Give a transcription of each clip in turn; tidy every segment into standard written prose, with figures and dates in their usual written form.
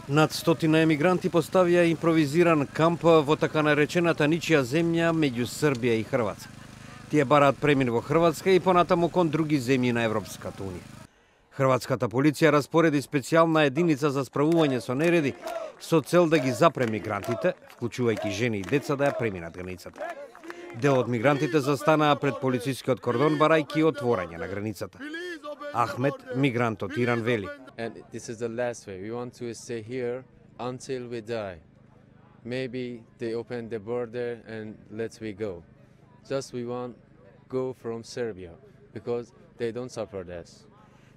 Над 100 емигранти поставија импровизиран камп во така наречената ничија земја меѓу Србија и Хрватска. Тие бараат премин во Хрватска и понатаму кон други земји на Европската унија. Хрватската полиција распореди специјална единица за справување со нереди со цел да ги запре мигрантите, вклучувајќи жени и деца, да ја преминат границата. Дел од мигрантите застанаа пред полицискиот кордон барајќи отворање на границата. Ахмет, мигрант од Иран, вели: And this is the last way. We want to stay here until we die. Maybe they open the border and let we go. Just we want go from Serbia because they don't support us.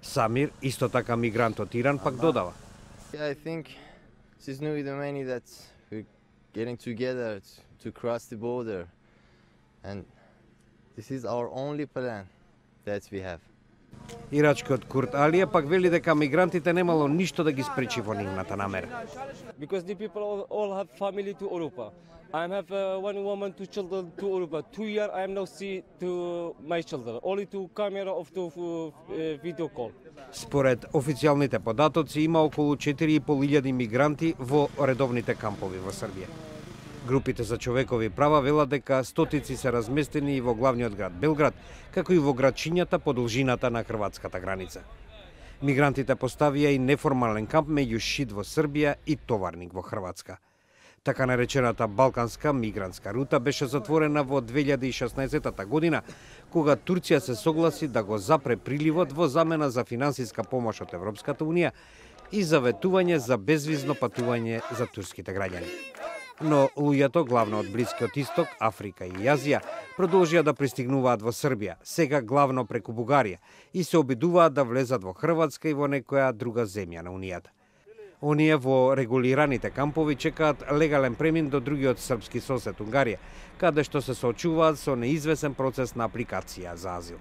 Самир, исто така мигрант од Иран, пак додава: I think this is new many that we're getting together to cross the border, and this is our only plan that we have. Ирачкиот Курт Алија пак вели дека мигрантите немало ништо да ги спречи во нивната намера. Because the people all have family to Europa. I have one woman, 2 children to Europa. 2 years I am now see to my children. Only to camera of the video call. Според официјалните податоци има околу 4.500 мигранти во редовните кампови во Србија. Групите за човекови права велат дека стотици се разместени и во главниот град Белград, како и во градчињата по должината на хрватската граница. Мигрантите поставија и неформален камп меѓу Шид во Србија и Товарник во Хрватска. Така наречената Балканска мигрантска рута беше затворена во 2016 година, кога Турција се согласи да го запре приливот во замена за финансиска помош од Европската унија и заветување за безвизно патување за турските граѓани. Но луѓето, главно од Блискиот Исток, Африка и Азија, продолжија да пристигнуваат во Србија, сега главно преку Бугарија, и се обидуваат да влезат во Хрватска и во некоја друга земја на Унијата. Оние во регулираните кампови чекаат легален премин до другиот српски сосед Унгарија, каде што се соочуваат со неизвесен процес на апликација за азил.